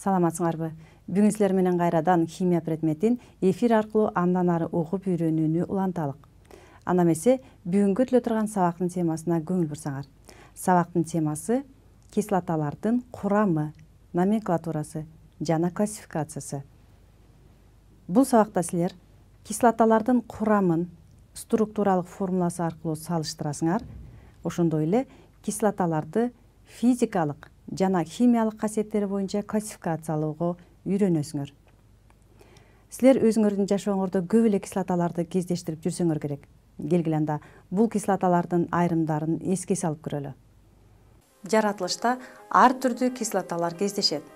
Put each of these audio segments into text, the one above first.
Саламатсыңарбы? Бүгүн силер менен кайрадан химия предметин эфир аркылуу андан ары угуп үйрөнүүнү уланталык. Ана эмесе бүгүнкү өтүлө турган сабактын темасына көңүл бурсаңар. Сабактын темасы кислоталардын курамы, номенклатурасы жана классификациясы. Бул сабакта силер кислоталардын курамын структуралык формуласы аркылуу салыштырасыңар. Ошондой эле кислоталарды физикалык жана химиялык касиеттери боюнча классификациялоого үйрөнөсүңөр. Силер өзүңөрдүн жашооңордо көп эле кислоталарды кездештирип жүрсөңөр керек. Келгиле анда бул кислоталардын айрымдарын эске салып көрөлү. Жаратылышта ар түрдүү кислоталар кездешет.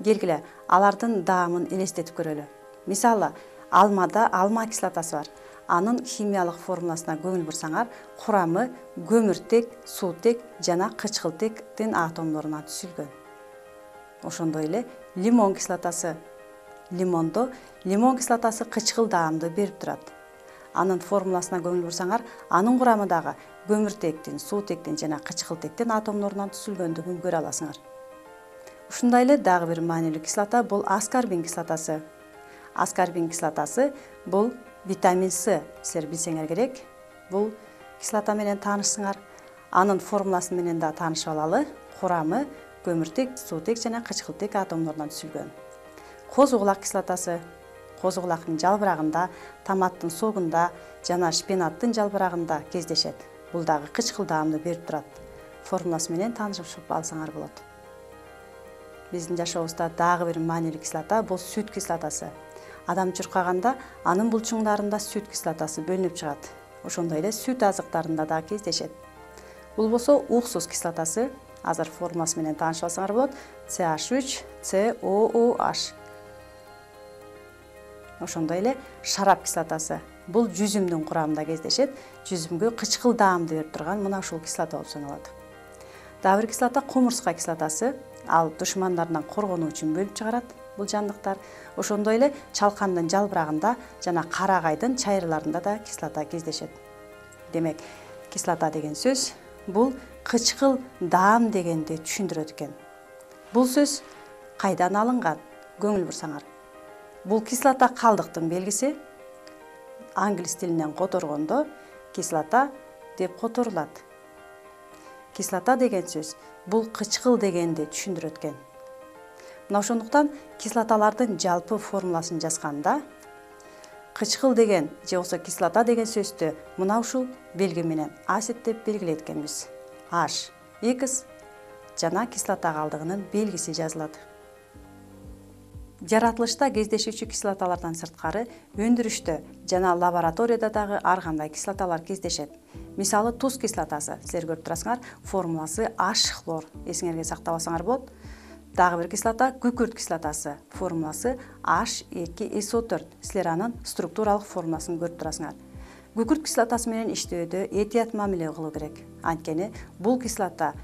Келгиле алардын даамын элестетип көрөлү. Мисалы, алмада алма кислотасы бар. Анын химиялык формуласына көңүл бурсаңар, курамы көмүртек, суутек жана кычкылтектин атомдорунан түзүлгөн. Ошондой эле лимон кислотасы. Лимондо лимон кислотасы кычкыл даамды берип турат. Анын формуласына көңүл бурсаңар, анын курамы дагы көмүртектин, суутектин жана кычкылтектин атомдорунан түзүлгөндүгүн көрө аласыңар. Ушундай эле дагы бир маанилүү кислота бул аскорбин кислотасы. Аскорбин кислотасы бул витамин С, силер билсеңер керек. Бул кислота менен таанышсыңар. Анын формуласы менен да таанышып алалы. Курамы көмүртек, суутек жана кычкылтек атомдорунан түзүлгөн. Козу-кулак кислотасы. Козу-кулактын жалбырагында, томаттын согунда жана шпинаттын жалбырагында кездешет. Бул дагы кычкыл даамды берип турат. Формуласы менен таанышып алсаңар болот. Биздин жашообузда дагы бир маанилүү кислота бул сүт кислотасы. Адам чуркаганда анын булчуңдарында сүт кислотасы бөлүнүп чыгат. Ошондой эле сүт азыктарында да кездешет. Бул болсо уксус кислотасы. Азыр формуласы менен таанышып алсаңар болот. CH3COOH. Ошондой эле шарап кислотасы. Бул жүзүмдүн курамында кездешет. Жүзүмгө кычкыл даамды берип турган мына ушул кислота болуп саналат. Дагы бир кислота кумурска кислотасы. Ал душмандарынан коргонуу үчүн бөлүп чыгарат бул жандыктар. Ошондой эле чалкандын жалбырагында жана карагайдын чайырларында да кислота кездешет. Демек, кислота деген сөз бул кычкыл даам дегенди түшүндүрөт экен. Бул сөз кайдан алынган? Көңүл бурсаңар. Бул кислота калдыктын белгиси. Англис тилинен которгондо кислота деп которулат. Кислота деген сөз бул кычкыл дегенди түшүндүрөт экен. Мына ошондуктан кислоталардын жалпы формуласын жазганда кычкыл деген же болбосо кислота деген сөздү мына ушул белги менен асид деп белгилейт экенбиз. H, X жана кислота калдыгынын белгиси жазылат. Жаратылышта кездешүүчү кислоталардан сырткары өндүрүштө жана лабораторияда дагы ар кандай кислоталар кездешет. Мисалы, туз кислотасы. Силер көрүп турасыңар, формуласы H-хлор. Эсиңерге сактап алсаңар болот. Дагы бир кислота күкүрт кислотасы. Формуласы H2SO4. Силер анын структуралык формуласын көрүп турасыңар. Күкүрт кислотасы менен иштөөдө этият мамиле кылуу керек. Анткени бул кислота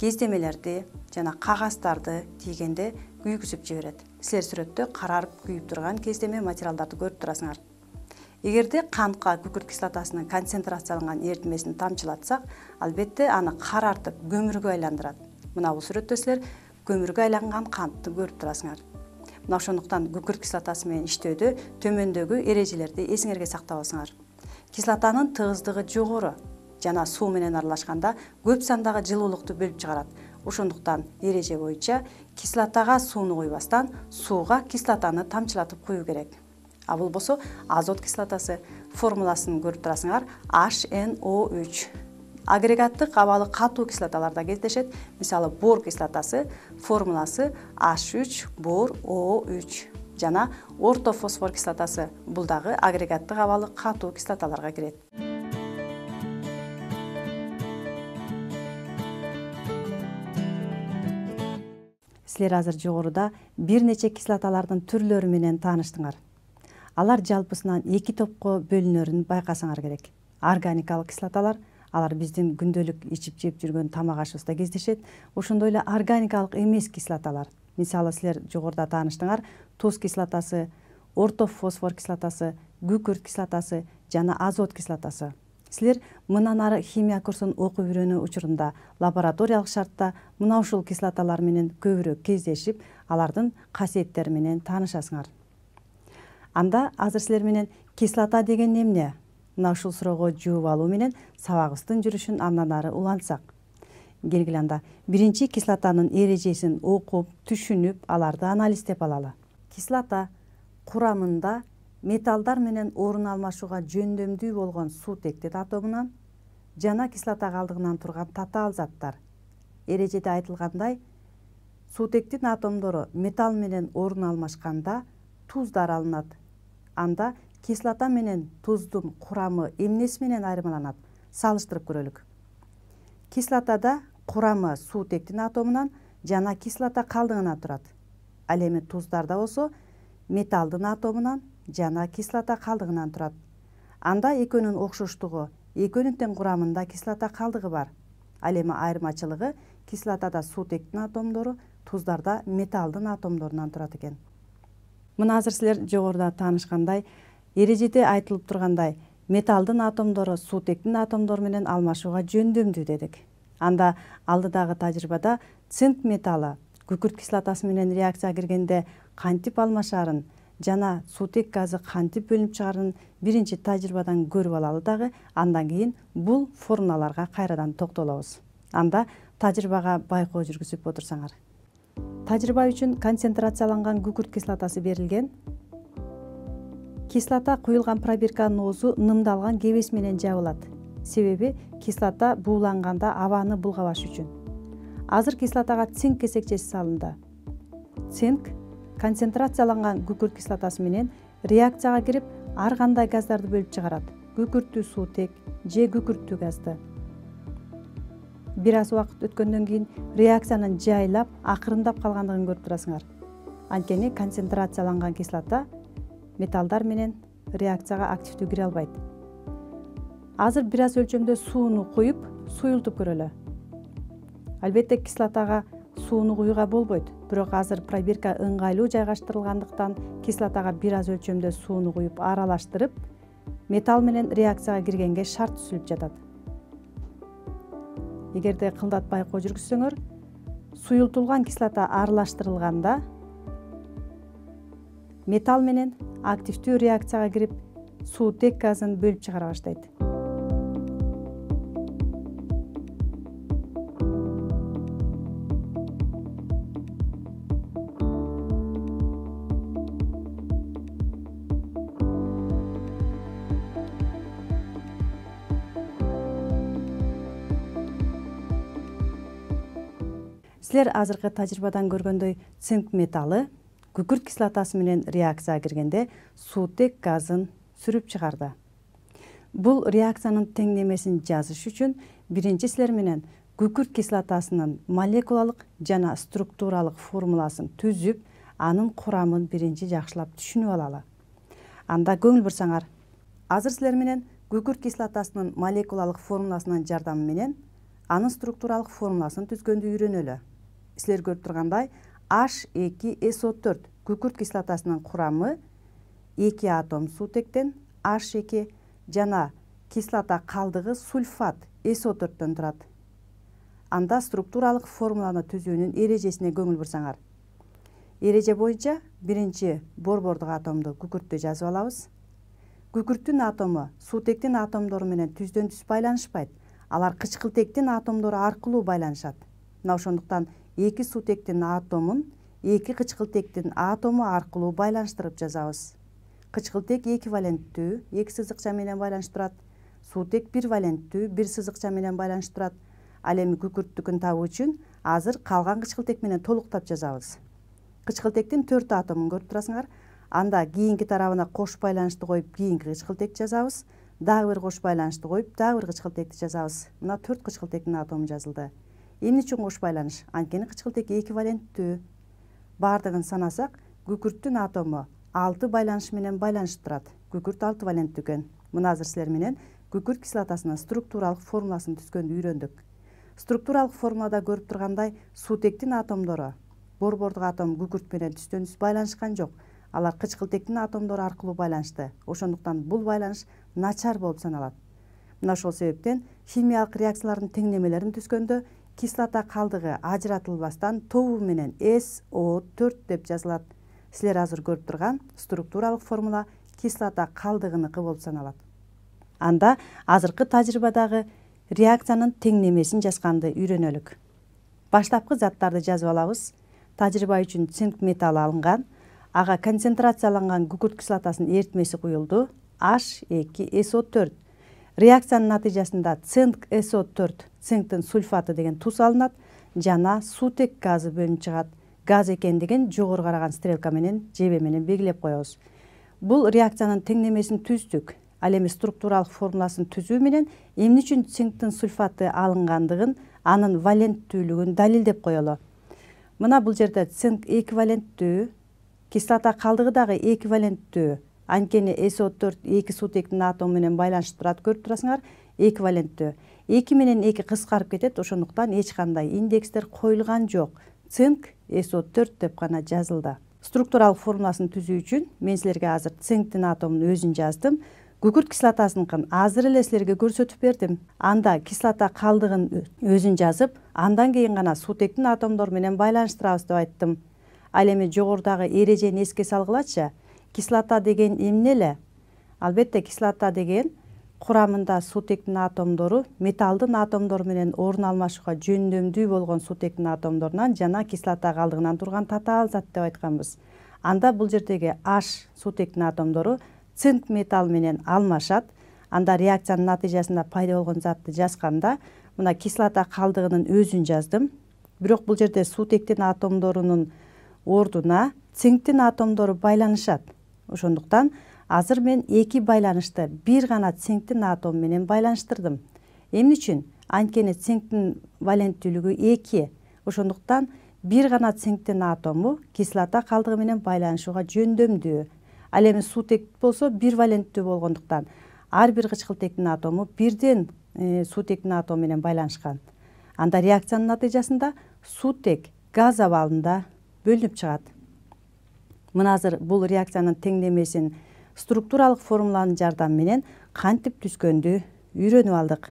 кездемелерди жана кагаздарды тийгенде күйгүзүп жиберет. Силер сүрөттө карарып күйүп турган кездеме материалдарды көрүп турасыңар. Эгерде кантка күкүрт кислотасынын концентрацияланган эритмесин тамчылатсак, албетте аны карартып көмүргө айландырат. Мына бул сүрөттө силер көмүргө айланган кантты көрүп турасыңар. Мына ошондуктан күкүрт кислотасы менен иштөөдө төмөндөгү эрежелерди эсиңерге сактап алсаңар. Кислотанын тыгыздыгы жогору жана суу менен аралашканда көп сандагы жылуулукту бөлүп чыгарат. Ошондуктан эреже боюнча кислотага сууну куйбастан сууга кислотаны тамчылатып куюу керек. А бул болсо азот кислотасы. Формуласын көрүп турасыңар HNO3. Агрегаттык абалы катуу кислоталарда кездешет. Мисалы, бор кислотасы. Формуласы H3BOO3 жана ортофосфор кислотасы. Бул дагы агрегаттык абалы катуу кислоталарга кирет. Силер азыр жогоруда бир нече кислоталардын түрлөрү менен тааныштыңар. Алар жалпысынан эки топко бөлүнөрүн байкасаңар керек. Органикалык кислоталар, алар биздин күндөлүк ичип жеп жүргөн тамак ашыбызда кездешет. Ошондой эле органикалык эмес кислоталар. Мисалы, силер жогоруда тааныштыңар, туз кислотасы, ортофосфор кислотасы, күкүрт кислотасы жана азот кислотасы. Силер мындан ары химия курсун окуп үйрөнүү учурунда лабораториялык шартта мына ушул кислоталар менен көбүрөөк кездешип, алардын касиеттери менен таанышасыңар. Анда азыр силер менен кислота деген эмне? Мына ушул суроого жооп алуу менен сабагыбыздын жүрүшүн андан ары улантсак. Келгиле анда биринчи кислотанын эрежесин окуп, түшүнүп, аларды анализдеп алалы. Кислота курамында металлдар менен орун алмашууга жөндөмдүү болгон суутектин атомунан жана кислота калдыгынан турган татаал заттар. Эрежеде айтылгандай, суутектин атомдору металл менен орун алмашканда туздар алынат. Анда кислота менен туздун курамы эмнеси менен айырмаланат? Салыштырып көрөлүк. Кислотада курамы суутектин атомунан жана кислота калдыгынан турат. Ал эми туздарда болсо металлдын атомунан жана кислота калдыгынан турат. Анда экөөнүн окшоштугу, экөөнүн тең курамында кислота калдыгы бар. Ал эми айырмачылыгы кислотада суутектин атомдору, туздарда металлдын атомдорунан турат экен. Мына азыр силер жогоруда таанышкандай, эрежеде айтылып тургандай, металлдын атомдору суутектин атомдору менен алмашууга жөндөмдүү дедик. Анда алдыдагы тажрыйбада цинк металлы күкүрт кислотасы менен реакцияга киргенде кантип алмашаарын жана суутек газы кантип бөлүнүп чыгаарын биринчи тажрыйбадан көрүп алалы дагы, андан кийин бул формулаларга кайрадан токтолобуз. Анда тажрыйбага байкоо жүргүзүп отурсаңар. Тажрыйба үчүн концентрацияланган күкүрт кислотасы берилген. Кислота куюлган пробирканын оозу нымдалган кебес менен жабылат. Себеби кислота бууланганда абаны булгабаш үчүн. Азыр кислотага цинк кесекчеси салынды. Цинк концентрацияланган күкүрт кислотасы менен реакцияга кирип, ар кандай газдарды бөлүп чыгарат. Күкүрттүү суутек же күкүрттүү газды. Бир аз убакыт өткөндөн кийин реакциянын жайлап, акырындап калгандыгын көрүп турасыңар. Анткени концентрацияланган кислота металлдар менен реакцияга активдүү кире албайт. Азыр бир аз өлчөмдө сууну куюп, суюлтуп көрөлү. Албетте кислотага сууну куюуга болбойт, бирок азыр пробирка ыңгайлуу жайгаштырылгандыктан кислотага бир аз өлчөмдө сууну куюп аралаштырып, металл менен реакцияга киргенге шарт түзүлүп жатат. Эгерде кылдат байкоо жүргүзсөңөр, суюлтулган кислота аралаштырылганда металл менен активдүү реакцияга кирип, суутек газын бөлүп чыгара баштайт. Силер азыркы тажрыйбадан көргөндөй цинк металлы күкүрт кислотасы менен реакцияга киргенде суутек газын сүрүп чыгарды. Бул реакциянын теңдемесин жазыш үчүн биринчи силер менен күкүрт кислотасынын молекулалык жана структуралык формуласын түзүп, анын курамын биринчи жакшылап түшүнүп алалы. Анда көңүл бурсаңар, азыр силер менен күкүрт кислотасынын молекулалык формуласынын жардамы менен анын структуралык формуласын түзгөндү үйрөнөлү. Силер көрүп тургандай, H2SO4 күкүрт кислотасынын курамы 2 атом суутектен H2 жана кислота калдыгы сульфат SO4төн турат. Анда структуралык формуланы түзүүнүн эрежесине көңүл бурсаңар. Эреже боюнча биринчи борбордук атомду күкүрттү жазып алабыз. Күкүрттүн атому суутектин атомдору менен түздөн түз байланышпайт. Алар кычкылтектин атомдору аркылуу байланышат. Мына ошондуктан эки суутектин атомун эки кычкылтектин атому аркылуу байланыштырып жазабыз. Кычкылтек эквиваленттүү, эки сызыкча менен байланышып турат. Суутек бир валенттүү, бир сызыкча менен байланышып турат. Ал эми күкүрттүкүн табуу үчүн азыр калган кычкылтек менен толуктап жазабыз. Кычкылтектин 4 атомун көрүп турасыңар. Анда кийинки тарабына кош байланышты коюп, кийинки кычкылтекти жазабыз. Дагы бир кош байланышты коюп, дагы бир кычкылтекти жазабыз. Мына 4 кычкылтектин атому жазылды. Эмне үчүн кош байланыш? Анткени кычкылтек эквиваленттүү. Бардыгын санасак, күкүрттүн атому 6 байланыш менен байланышып турат. Күкүрт 6 валенттүү экен. Мына азыр силер менен күкүрт кислотасынын структуралык формуласын түзгөндү үйрөндүк. Структуралык формулада көрүп тургандай, суутектин атомдору борбордук атом күкүрт менен түздөн түз байланышкан жок. Алар кычкылтектин атомдору аркылуу байланышты. Ошондуктан бул байланыш начар болуп саналат. Мына ошол себептен химиялык реакциялардын теңнемелерин түзгөндө кислота калдыгы ажыратылбастан тобу менен SO4 деп жазылат. Силер азыр көрүп турган структуралык формула кислота калдыгыныкы болуп саналат. Анда азыркы тажрыйбадагы реакциянын теңнемесин жазганды үйрөнөлүк. Баштапкы заттарды жазып алабыз. Тажрыйба үчүн цинк металлы алынган, ага концентрацияланган күкүрт кислотасынын эритмеси куюлду, H2SO4. Реакциянын натыйжасында цинк SO4, цинктин сульфаты деген туз алынат жана сутек газы бөлүнүп чыгат. Газ экендигин жогору караган стрелка менен жебе менен белгилеп коебуз. Бул реакциянын теңнемесин түздүк. Ал эми структуралык формуласын түзүү менен эмне үчүн цинктин сульфаты алынгандыгын, анын валенттүүлүгүн далилдеп коелу. Мына бул жерде цинк эквиваленттүү, кислота калдыгы дагы эквиваленттүү. Анткени SO4 эки сутектин атому менен байланышып турат, көрүп турасыңар, эквиваленттүү. 2 менен 2 кыскарып кетет, ошондуктан эч кандай индекстер коюлган жок. Цинк SO4 деп гана жазылды. Структуралык формуласын түзүү үчүн мен силерге азыр цинктин атомунун өзүн жаздым. Күкүрт кислотасыныкын азыр эле силерге көрсөтүп бердим. Анда кислота калдыгын өзүн жазып, андан кийин гана сутектин атомдору менен байланыштырабыз деп айттым. Ал эми жогорудагы эрежени эске салгылачы. Кислота деген эмне эле? Албетте кислота деген курамында сутектин атомдору металлдын атомдору менен орун алмашууга жөндөмдүү болгон сутектин атомдорунан жана кислота калдыгынан турган татаал зат деп айтканбыз. Анда бул жердеги H сутектин атомдору цинк металл менен алмашат. Анда реакциянын натыйжасында пайда болгон затты жазганда мына кислота калдыгынын өзүн жаздым. Бирок бул жерде сутектин атомдорунун ордуна цинктин атомдору байланышат. Ошондуктан азыр мен эки байланышты бир гана цинктин атому менен байланыштырдым. Эмне үчүн? Анткени цинктин валенттүүлүгү 2. Ошондуктан бир гана цинктин атому кислота калдыгы менен байланышууга жөндөмдүү. Ал эми сутек болсо бир валенттүү болгондуктан ар бир кычкылтектин атому бирден сутектин атому менен байланышкан. Анда реакциянын натыйжасында сутек газ абалында бөлүнүп чыгат. Мына азыр бул реакциянын теңнемесин структуралык формуланын жардамы менен кантип түзгөндү үйрөнүп алдык.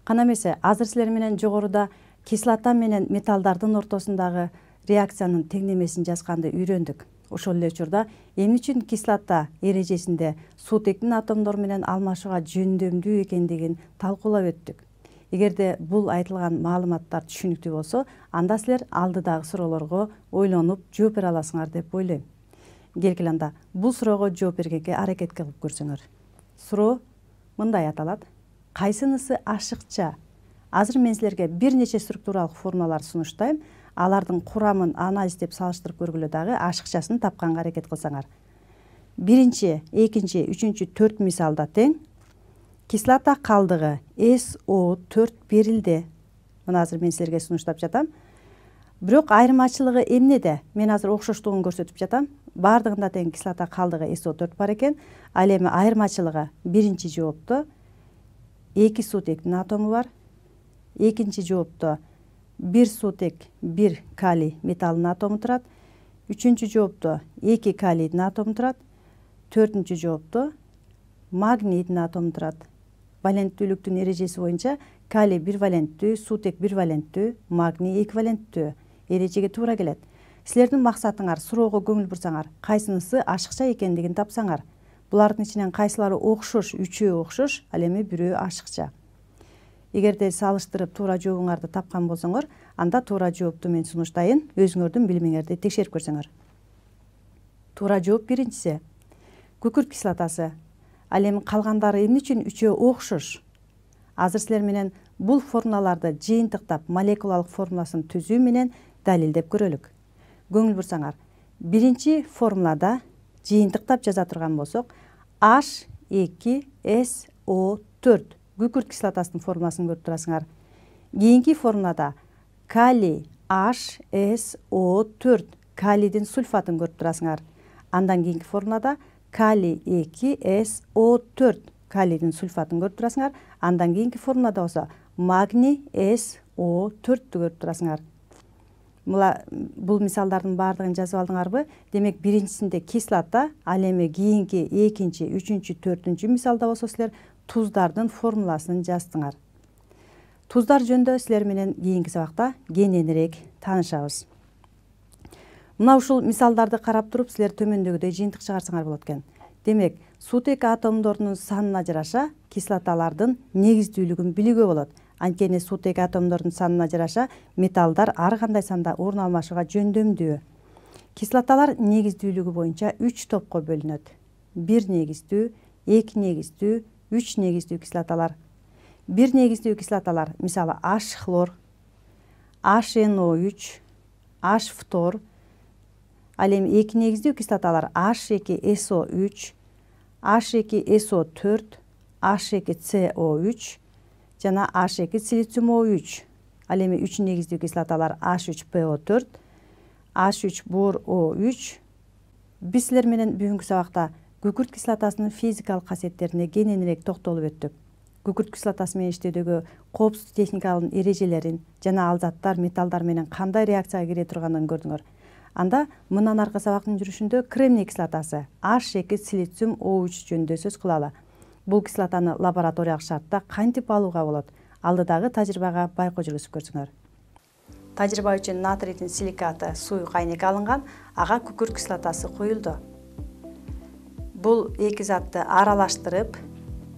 Кана эмесе азыр силер менен жогоруда кислота менен металлдардын ортосундагы реакциянын теңнемесин жазганды үйрөндүк. Ошол эле учурда эмне үчүн кислота эрежесинде сутектин атомдору менен алмашууга жөндөмдүү экендигин талкуулап өттүк. Эгерде бул айтылган маалыматтар түшүнүктүү болсо, анда силер алдыдагы суроолорго ойлонуп жооп бере аласыңар деп ойлойм. Келгиле анда бул суроого жооп бергенге аракет кылып көрсөңөр. Суроо мындай аталат: кайсынысы ашыкча? Азыр мен силерге бир нече структуралык формулалар сунуштайм. Алардын курамын анализдеп салыштырып көргүлө дагы ашыкчасын тапканга аракет кылсаңар. Биринчи, экинчи, үчүнчү, 4 мисалда тең. Кислота калдыгы SO4 берилди. Мына азыр мен силерге сунуштап жатам. Бирок айырмачылыгы эмнеде? Мен азыр окшоштугун көрсөтүп жатам. Бардыгында тең кислота калдыгы SO4 бар экен. Ал эми айырмачылыгы биринчи жоопто 2 сутектин атому бар. Экинчи жоопто 1 сутек 1 калий металлынын атому турат. Үчүнчү жоопто 2 калийдин атому турат. Төртүнчү жоопто магнийдин атому турат. Валенттүүлүктүн эрежеси боюнча калий 1 валенттүү, сутек 1 валенттүү, магний эквиваленттүү эрежеге туура келет. Силердин максатыңар суроого көңүл бурсаңар, кайсынысы ашыкча экендигин тапсаңар. Булардын ичинен кайсылары окшош, үчөө окшош, ал эми бирөө ашыкча. Эгерде салыштырып туура жообуңарды тапкан болсоңор, анда туура жоопту мен сунуштайын, өзүңөрдүн билимиңерди текшерип көрсөңөр. Туура жооп биринчиси. Күкүрт кислотасы. Ал эми калгандары эмне үчүн үчөө окшош? Азыр силер менен бул формулаларды жыйынтыктап, молекулалык формуласын түзүү менен далилдеп көрөлүк. Көңүл бурсаңар, биринчи формулада жыйынтыктап жаза турган болсок, H2SO4 күкүрт кислотасынын формуласын көрүп турасыңар. Кийинки формулада калий HSO4 калийдин сульфатын көрүп турасыңар. Андан кийинки формулада калий 2SO4 калийдин сульфатын көрүп турасыңар. Андан кийинки формулада болсо магний SO4-тү көрүп турасыңар. Бул мисалдардын баардыгын жазып алдыңарбы? Демек биринчисинде кислота, ал эми кийинки экинчи, үчүнчү, төртүнчү мисалда болсо силер туздардын формуласын жаздыңар. Туздар жөнүндө силер менен кийинки сабакта кененирээк таанышабыз. Мына ушул мисалдарды карап туруп силер төмөндөгүдөй жыйынтык чыгарсаңар болот экен. Демек, суутек атомдорунун санына жараша кислоталардын негиздүүлүгүн билүүгө болот. Анткени суутек атомдордун санына жараша металлдар ар кандай санда орун алмашууга жөндөмдүү. Кислоталар негиздүүлүгү боюнча 3 топко бөлүнөт. 1 негиздүү, 2 негиздүү, 3 негиздүү кислоталар. 1 негиздүү кислоталар, мисалы H-хлор, HNO3, H-фтор. Ал эми 2 негиздүү кислоталар H2SO3, H2SO4, H2CO3 жана H2SiO3. Ал эми 3 негиздүү кислоталар H3PO4, H3BORO3. Биз силер менен бүгүнкү сабакта күкүрт кислотасынын физикалык касиеттерине кененирээк токтолуп өттүк. Күкүрт кислотасы менен иштөөдөгү коопсуздук техникалын эрежелерин жана ал заттар металлдар менен кандай реакцияга кире турганын көрдүңөр. Анда мындан аркы сабактын жүрүшүндө кремний кислотасы H2SiO3 жөнүндө сөз кылалы. Бул кислотаны лабораториялык шартта кантип алууга болот? Алдыдагы тажрыйбага байкоо жүргүзүп көрсүңөр. Тажрыйба үчүн натрийдин силикаты суу кайнекке алынган, ага күкүрт кислотасы куюлду. Бул эки затты аралаштырып,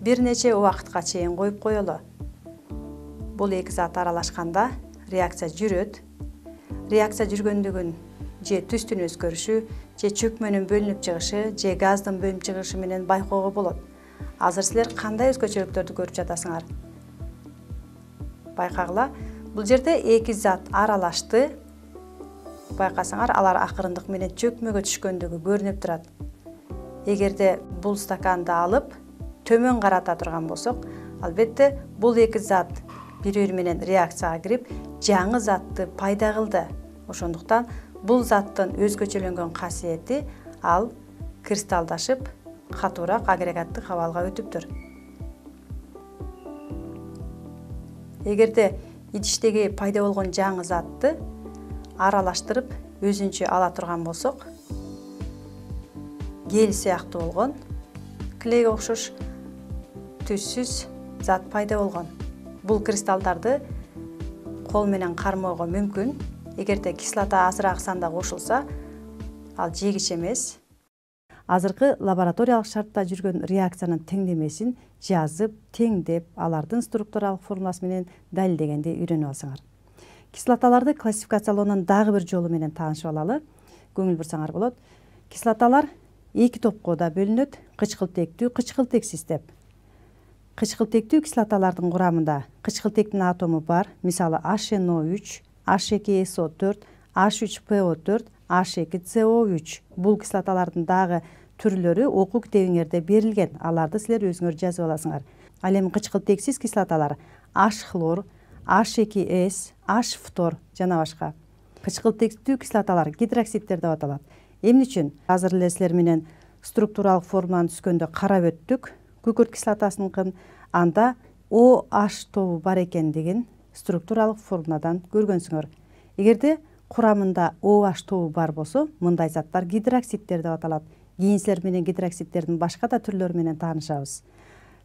бир нече убакытка чейин коюп коелу. Бул эки зат аралашканда реакция жүрөт. Реакция жүргөндүгүн же түстүн өзгөрүшү, же чөкмөнүн бөлүнүп чыгышы, же газдын бөлүнүп чыгышы менен байкоого болот. Азыр силер кандай өзгөчөлүктөрдү көрүп жатасыңар? Байкагыла, бул жерде эки зат аралашты. Байкасаңар, алар акырындык менен чөкмөгө түшкөндүгү көрүнүп турат. Эгерде бул стаканды алып, төмөн карата турган болсок, албетте бул эки зат бири-бири менен реакцияга кирип, жаңы затты пайда кылды. Ошондуктан бул заттын өзгөчөлөнгөн касиети ал кристалдашып, катуураак агрегаттык абалга өтүптүр. Эгерде идиштеги пайда болгон жаңы затты аралаштырып өзүнчө ала турган болсок, гель сыяктуу болгон, клейге окшош түссүз зат пайда болгон. Бул кристаллдарды кол менен кармоого мүмкүн. Эгерде кислота азыраак санда кошулса, ал жегич эмес. Азыркы лабораториялык шартта жүргөн реакциянын теңдемесин жазып, теңдеп, алардын структуралык формуласы менен далилдегенди үйрөнүп алсаңар. Кислоталарды классификациялоонун дагы бир жолу менен таанышып алалы. Көңүл бурсаңар болот. Кислоталар эки топко да бөлүнөт: кычкылтектүү, кычкылтексиз деп. Кычкылтектүү кислоталардын курамында кычкылтектин атому бар, мисалы HNO3, H2SO4, H3PO4, H2CO3. Бул кислоталардын дагы түрлөрү окуу китебиңерде берилген. Аларды силер өзүңөр жазып аласыңар. Ал эми кычкылтексиз кислоталар H-хлор, H2S, H-фтор жана башка. Кычкылтектүү кислоталар гидроксидтер деп аталат. Эмне үчүн? Азыр эле силер менен структуралык формуланы түзгөндө карап өттүк. Күкүрт кислотасыныкын анда OH тобу бар экендигин структуралык формуладан көргөнсүңөр. Эгерде курамында OH тобу бар болсо, мындай заттар гидроксидтер деп аталат. Кийин силер менен гидроксидтердин башка да түрлөрү менен таанышабыз.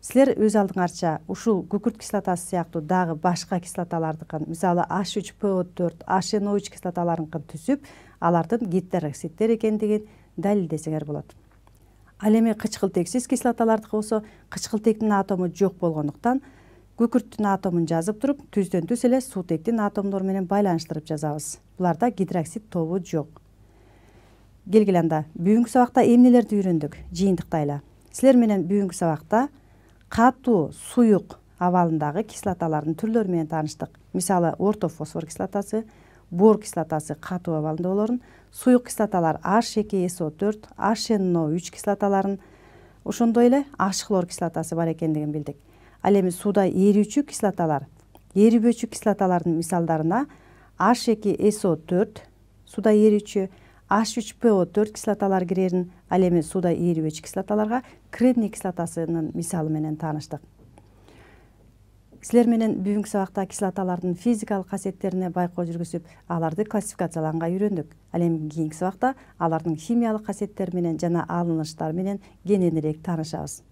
Силер өз алдыңарча ушул күкүрт кислотасы сыяктуу дагы башка кислоталардыкын, мисалы H3PO4, HNO3 кислоталарыныкын түзүп, алардын гидроксидтер экендигин далилдесеңер болот. Ал эми кычкылтексиз кислоталардыкы болсо, кычкылтектин атому жок болгондуктан күкүрттүн атомун жазып туруп, түздөн түз эле суутектин атомдору менен байланыштырып жазабыз. Буларда гидроксид тобу жок. Келгиле анда, бүгүнкү сабакта эмнелерди үйрөндүк? Жыйынтыктайлы. Силер менен бүгүнкү сабакта катуу, суюк абалындагы кислоталардын түрлөрү менен тааныштык. Мисалы, орто фосфор кислотасы, бор кислотасы катуу абалында болорун, суюк кислоталар H2SO4, HNO3 кислоталарын, ошондой эле H-хлор кислотасы бар экендигин билдик. Ал эми сууда эрүүчү кислоталар, эрибөөчү кислоталардын мисалдарына H2SO4, сууда эрүүчү, H3PO4 кислоталар кирерин, ал эми сууда эрибөөчү кислоталарга кремний кислотасынын мисалы менен тааныштык. Силер менен бүгүнкү сабакта кислоталардын физикалык касиеттерине байкоо жүргүзүп, аларды классификациялаганга үйрөндүк. Ал эми кийинки сабакта алардын химиялык касиеттери менен жана алыныштары менен кененирээк таанышабыз.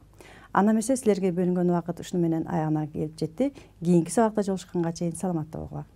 анда эмесе силерге бөлүнгөн убакыт ушуну менен аягына келип жетти. Кийинки сабакта жолугушканга чейин саламатта болгула.